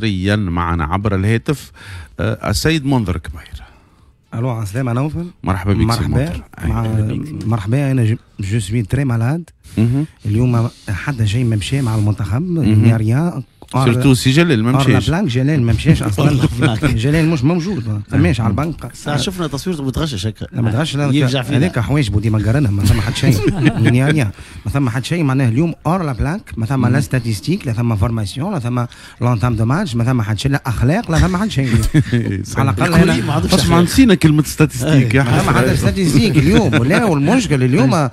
حصريا معنا عبر الهاتف السيد منذر كبير. الو، عسلامة نوفل. مرحبا بك. مرحبا، مرحبا. انا je suis très malade اليوم، حتى شيء ما مشى مع المنتخب، y a rien. surtout سي جلال ما مشاش. بلانك جلال ما مشاش اصلا، جلال مش موجود، ما ثماش على البنك. ساعة شفنا تصويرته متغشش هكا. لا متغشش، هذاك حوايجبو ديما قارنها، ما ثم حد شيء، ما ثم حد شيء. معناه اليوم hors la plaque، ما ثم لا statistiques، لا ثم formation، لا ثم l'entame de match، ما ثم حد شيء، لا اخلاق، لا ثم حد شيء. على الاقل اسمع، نسينا كلمة statistiques. ما ثم حتى statistiques اليوم. ولا والمشكل اليوم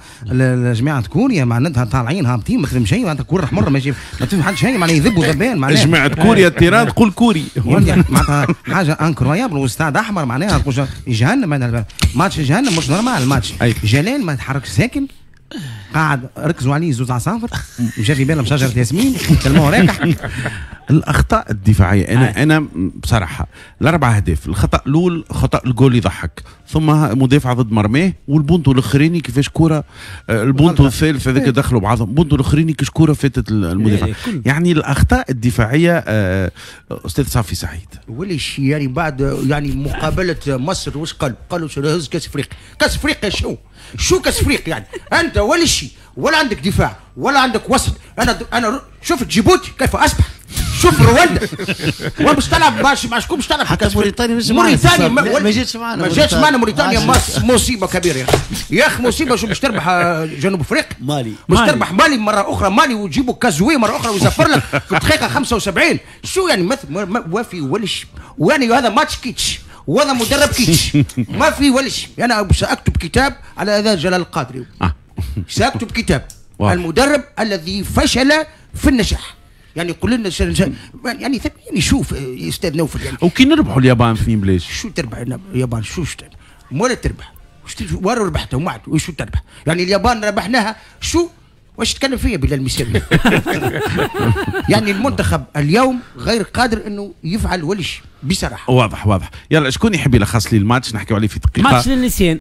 جماعة كوريا معناتها طالعين هابطين، ما تفهم شيء، معناتها كورة حمر ماشي، ما تفهم حد شيء، معناها يذبوا ذبان. معناها جماعة كوريا ال terrain تقول كوري. معناتها حاجة incroyable، واستاد احمر، معناها جهنم، ماتش جهنم، مش normal الماتش. جلال ما يتحركش، ساكن قاعد، ركزوا عليه زوز عصافر، مشى في بالهم شجرة ياسمين تلموه راكح. الاخطاء الدفاعيه، انا بصراحة الاربع اهداف، الخطا الاول خطا الجول يضحك، ثم مدافع ضد مرماه، والبونتو الاخراني كيفاش كره، البونتو الثالث هذاك دخلوا بعضهم، البونتو الاخراني كيفاش كره فاتت المدافع. يعني الاخطاء الدفاعيه. استاذ صافي سعيد. وليش يعني بعد يعني مقابله مصر واش قالوا؟ قالوا هز كاس افريقيا، كاس افريقيا شو كاس افريقيا؟ يعني انت ولا شيء، ولا عندك دفاع ولا عندك وسط. انا شفت جيبوتي كيف اصبح، شوف رواندا، ومش تلعب مع شكون؟ مش تلعب حتى موريتانيا مش موريتانيا ما جاتش معنا. ما جاتش معنا موريتانيا، مصيبة كبيرة يا اخي، مصيبه. شو باش تربح جنوب افريقيا؟ مالي. باش تربح مالي مرة اخرى، مالي وتجيبوا كازوي مرة اخرى ويزفر لك في الدقيقة 75. شو يعني مثل ما في ولا شيء، ويعني هذا ماتش كيتش وهذا مدرب كيتش، ما في ولا شيء. انا ساكتب كتاب على هذا جلال القادري، ساكتب كتاب المدرب الذي فشل في النجاح. يعني قول لنا يعني شوف استاذ نوفل يعني وكي نربحوا اليابان في بلاش. شو تربح اليابان؟ شو ولا تربح ولا ربحتهم وعد وشو تربح؟ يعني اليابان ربحناها، شو واش تكلم فيا بلال المساوي؟ يعني المنتخب اليوم غير قادر انه يفعل ولا شيء بصراحة. واضح واضح. يلا شكون يحب يلخص لي الماتش؟ نحكيو عليه في دقيقة. ماتش للنسيان.